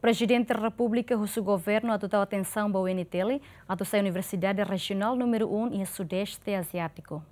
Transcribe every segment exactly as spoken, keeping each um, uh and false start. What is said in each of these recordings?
Prezidente Repúblika husu governu atu tau atensaun ba U N T L, atu sai Universidade Rejionál númeru um iha Sudeste Aziátiku.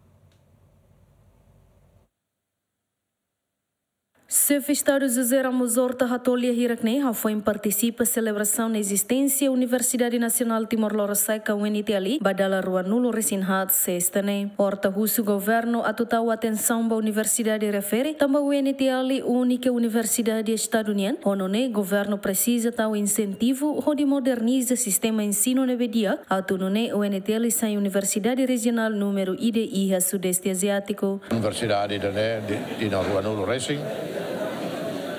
Xefe Estadu José Ramos Horta hato'o lia hirak ne'e hafoin partisipa selebrasaun ezisténsia Universidade Nasionál Timor Lorosa'e ka U N T L ba dala ruanulu resin haat, sesta ne'e. Horta husu governu atu tau atensaun ba universidade refere, tanba U N T L únika universidade Estadu nian, ho nune'e governu presiza tau insentivu hodi moderniza sistema ensinu ne'ebé di'ak, atu nune'e U N T L sai universidade rejionál númeru ida iha Sudeste Aziátiku. Universidade ida-ne'e di, di na ruanulu resin,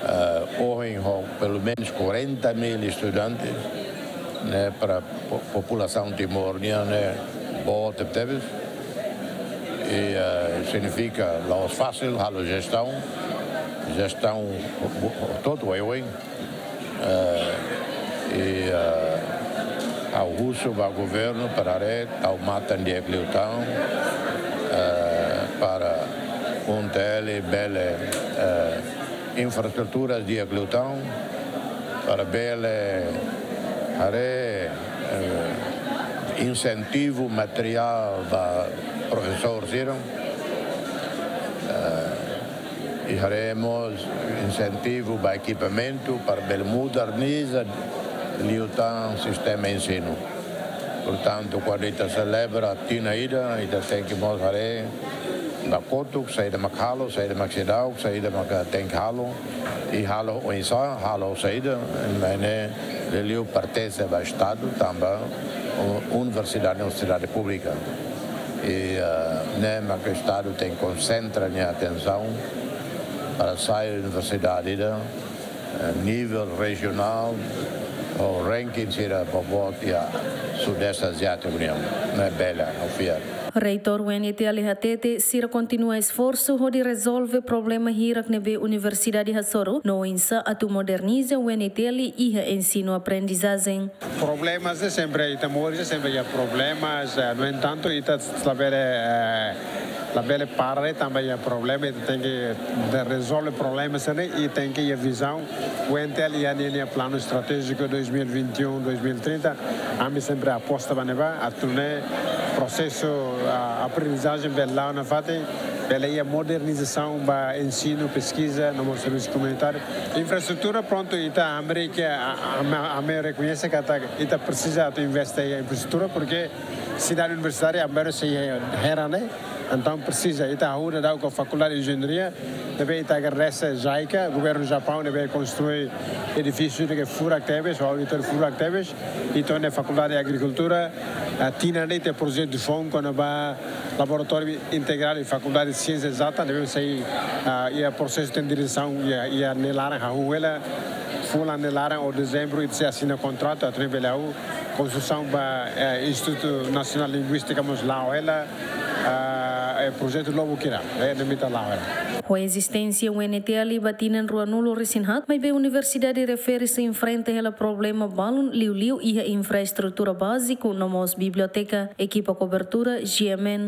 eh, ohin ho pelumenus quarenta mil estudantes, ne'e, para po-, populasaun Timor nian ne'e boot tebes. I, eh, signifika la'ós fasil halo jestaun, jestaun bo-, bo-, hotu oioin. Eh, i, eh, ha'u husu ba governu para haree tau matan di'ak liután, eh, para U N T L bele, eh, infraestruturas di'ak liután, para bele haree, eh, insentivu materiál ba profesór sira. Eh, i haree mós insentivu ba ekipamentu para bele moderniza liután sistema ensinu. Portantu, kuandu ita selebra tinan ida, ita tenke mós haree ba kotuk saida mak halo, saida mak seidauk, saida mak tenke halo, i halo oinsá, halo saida, maibé ne'e liuliu pertense ba Estadu, tanba u-, universidade, universidade públika. I, eh, ne'e mak Estadu tenke konsentra nia atensaun para sai universidade ida, eh, nivel rejionál, ho ranking sira boboot iha Sudeste Aziátiku nian, ne'e bele, ha'u fiar. Reitór U N T L hatete, sira kontinua esforsu hodi rezolve problema hirak ne'ebé universidade hasoru, no oinsá atu moderniza U N T L iha ensinu aprendizajen. Problemas ne'e sempre, ita moris ne'e sempre iha problemas, eh, no entantu, ita labele, eh, labele para, tanba iha problema, ita tenke rezolve problema sira-ne'e, i tenke iha vizaun. U N T L iha ninia planu estratéjiku dois mil e vinte e um, dois mil e trinta, ami sempre aposta ba ne'ebá, atu nune'e prosesu, ah, aprendizajen bele la'o nafatin, bele iha modernizasaun ba ensinu, peskiza, no mós servisu komunitáriu. Infraestrutura, prontu, ita hamriik, a, a, ami, ami rekoñese katak ita presiza atu investe iha infraestrutura, porke sidade universitária, Amparo, sei hela ne'e, entaun presiza, ita hahú daudaun ho Fakuldade de Enjeñaria, ne'ebé ita agradese JICA, governu Japaun, ne'ebé konstrui edifísiu ne'ebé furak tebes, ho auditóriu furak tebes, i to'o iha Fakuldade de Agrikultura, ah, tinan ida iha projetu foun kona-ba laboratóriu integradu iha Fakuldade de Siénsia Ezata, ne'ebé sei, ah, iha prosesu tenderizasaun iha, iha nia laran, hahú hela, fulan nia laran ou dezembru, ita sei asina kontratu, atu nune'e bele hahú konstrusaun ba, eh, Institutu Nasionál Linguístika mós la'o hela, ah, eh, projetu Lobo Kira, eh, ne'e mós ita la'o hela. Ho ezisténsia U N T L ba tinan ruanulu resin haat, maibé universidade refere sei enfrenta hela problema balun liuliu iha infraestrutura báziku no mós biblioteka, ekipa kobertura, G M N.